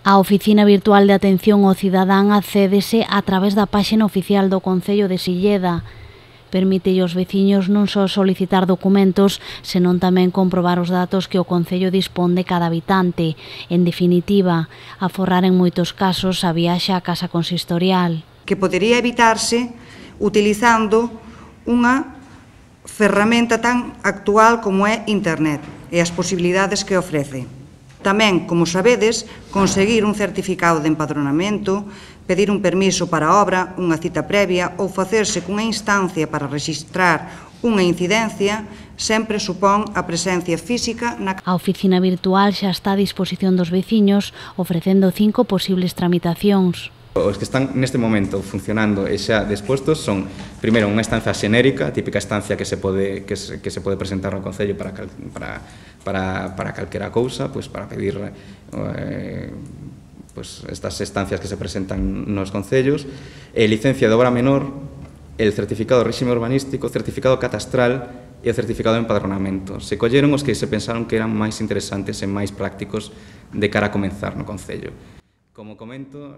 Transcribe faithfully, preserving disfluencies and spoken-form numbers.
A Oficina Virtual de Atención ao Cidadán accédese a través da páxina oficial do Concello de Silleda. Permite aos veciños non só solicitar documentos, senón tamén comprobar os datos que o Concello dispón de cada habitante. En definitiva, aforrar en moitos casos a viaxe á casa consistorial. Que podería evitarse utilizando unha ferramenta tan actual como é Internet e as posibilidades que ofrece. Tamén, como sabedes, conseguir un certificado de empadronamento, pedir un permiso para a obra, unha cita previa ou facerse cunha instancia para rexistrar unha incidencia sempre supón a presencia física na... A oficina virtual xa está a disposición dos veciños, ofrecendo cinco posibles tramitacións. Os que están neste momento funcionando e xa dispostos son, primeiro, unha estancia xenérica, típica estancia que se pode, que se, que se pode presentar no Concello para, para, para, para calquera cousa, pues, para pedir eh, pues, estas estancias que se presentan nos Concellos, e licencia de obra menor, el certificado de réxime urbanístico, o certificado catastral e o certificado de empadronamento. Se colleron os que se pensaron que eran máis interesantes e máis prácticos de cara a comenzar no Concello. Como comento,